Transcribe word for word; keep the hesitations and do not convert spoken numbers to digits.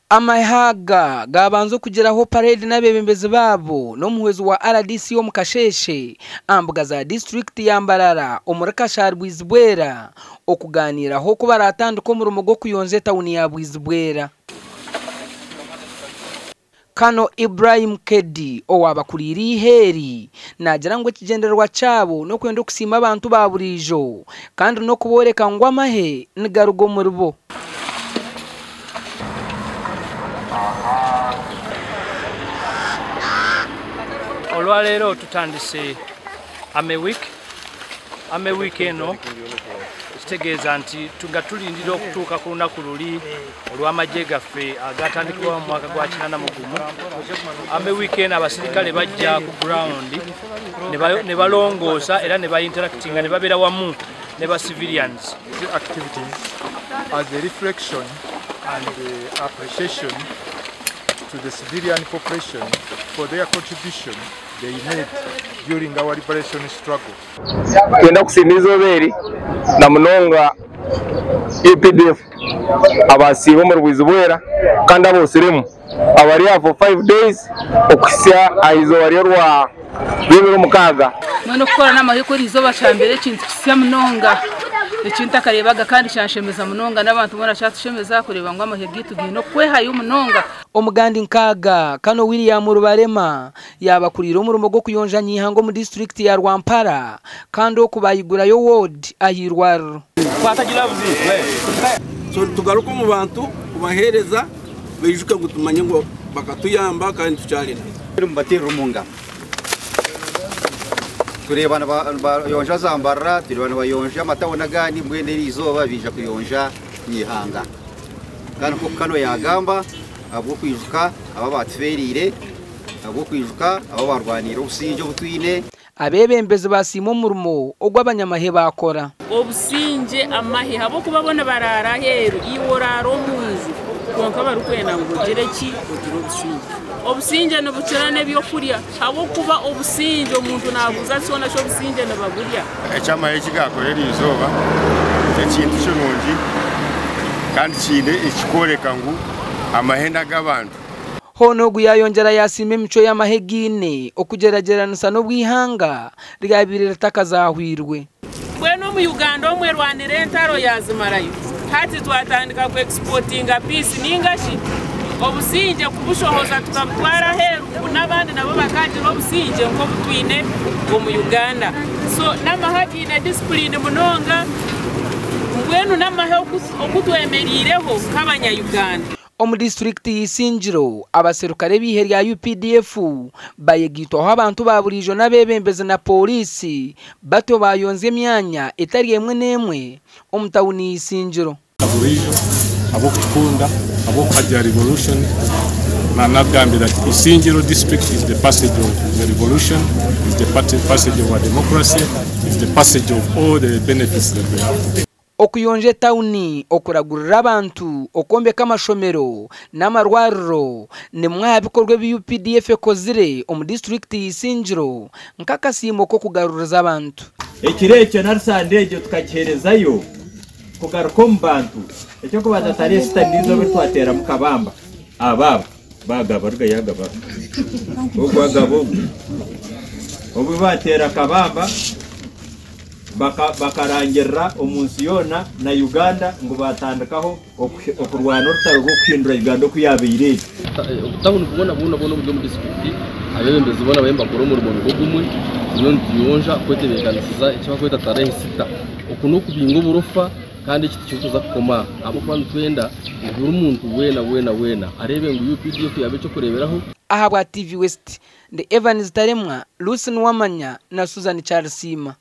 Amahe aga gabanza okugiraho parade n'abeebembezi baabo n'omuhwezi wa R D C omu Kasheeshe aha mbuga za disitulikiti ya Mbarara omuri Kashari Bwizibwera okuganiiraho oku baratandika omurimo gw'okuyonja etawuni ya Bwizibwera. Kano Ibrahim Kedi owabakuriire ihe naagira ngu ekigyendererwa kyabo n'okwenda okusiima abantu ba buriijo kandi n'okubooreka ngu amahe nigaruga omuri bo. Olwaleero tutandise Army Week. Army Week eno kitegeeza nti nga tulindira okutuuka ku lunaku luli olw'amagye gaffe agatandikibwawo mu mwaka gwa kinana mu gumu. Army Week eno abasirikale bajja ku ground ne balongoosa era ne bainteractinga ne babeera wamu ne ba civilians. Activities as a reflection and the appreciation to the civilian population for their contribution they made during our liberation struggle. Twenda kusiima izooba eri na munonga U P D F abasiiba omuri Bwizibwera kandi abosiremu abari aha for five days okuhitsya aha izooba ry'orwa rw'ebiro mukaaga. Mbwenu okukora n'amahe kuri izooba kyambere ekintu kisya munonga ekintu akarebaga kandi kyanshemeza munonga n'abantu boona kyatushemeza kureeba ngu amahe gaitu gaine okwehayo munonga. Omugandi nkaaga Kano William Rubarema yabakuriire omurimo gw'okuyonja nyihanga omu disitulikiti ya Rwampara kandi oku bayigurayo ward ah'irwariro. So tugaruke omu bantu kubaheereza baijuke ngu tumanye ngu bakatuyamba kandi tukyarina. Mubaterera omu ngaro. Tureeba nibayonja Zambarara, tureeba nibayonja amatawuni agandi, mbwenu eri izooba biija kuyonja nyihanga. Kandi nk'oku Kano yagamba, ahabw'okwijuka aba batuferiire, ahabw'okwijuka aba barwaniire obusingye obu twine. Abeebembezi basiima omurimo ogw'abanyamahe bakora. Obusingye amahe habwokuba bona baraara aheeru, iwe oraara omu nju, konka barikwenda ngu ogire ki? Ogire obusingye. Obusingye nibukira n'ebyokurya habwokuba obusingye omuntu nabuuza kyona ky'obusingye nibaburya. Ekyamahe ekigakora eri izooba ekintu kirungi kandi kiine ekikworeka ngu amahe g'abantu. Hoona ogu yayongyera yasiima emico y'amahe giine okugyeragyeranisa n'obwihanga ryabaire ritakazahwirwe. Mbwenu omu Uganda omwe rwanira entaro yazimarayo, hati twatandika ku exportinga peace ningashi obusingye kubushohoza tukabutwara aheeru ngu n'abandi nabo bakagira obusingye nk'obu twine omu Uganda. So n'amahe giine discipline munonga, mbwenu n'amahe okutwemeriireho nk'abanya-Uganda. Omu disitulikiti y'Isingiro abaserukare b'ihe rya U P D F bayegitwaho abantu ba buriijo n'abeebembezi na polisi batyo bayonza emyanya etari emwe n'emwe omu tawuni y'Isingiro. Burijo ab'okutukunda, ab'okuhagira revolution, nanagambira ati Isingiro district is the passage of the revolution, is the passage of our democracy, is the passage of all the benefits that we have today. Okuyonja etawuni, okuragurira abantu, okwombeka amashomero n'amarwariro nimwe aha bikorwa ebi U P D F ekozire omu disitulikiti y'Isingiro nk'akasiimo k'okugaruriza abantu. Ekiro ekyo na Rusande egyo tukagiherezayo kugaruka omu bantu. Ekyokubanza tarehe sita nizo twateramu kabamba ababa bagaba ruga yagaba ogwo agaba ogwo obu batera kabamba bakarangirira omu nsi yoona na Uganda ngu batandikaho okurwana orutaro rw'okuhindura Uganda oku yabaire eri. Obutawuni bwona bwona bwona oburi omu disitulikiti, abebembezi boona bariyo nibakora omurimo nigwo gumwe, turiyo nituyonja kwetebeekanisiza eki barikweta tarehe sita. Oku n'okubinga oburofa kandi eki tikirikuza kukoma aha ahabw'okuba nitwenda ngu buri muntu weena weena weena areebe ngu U P D F yaaba ekyokureeberaho. Ahabwa T V West, ndi Evans Taremwa, Lucy Nuwamanya na Susan Charles Siima.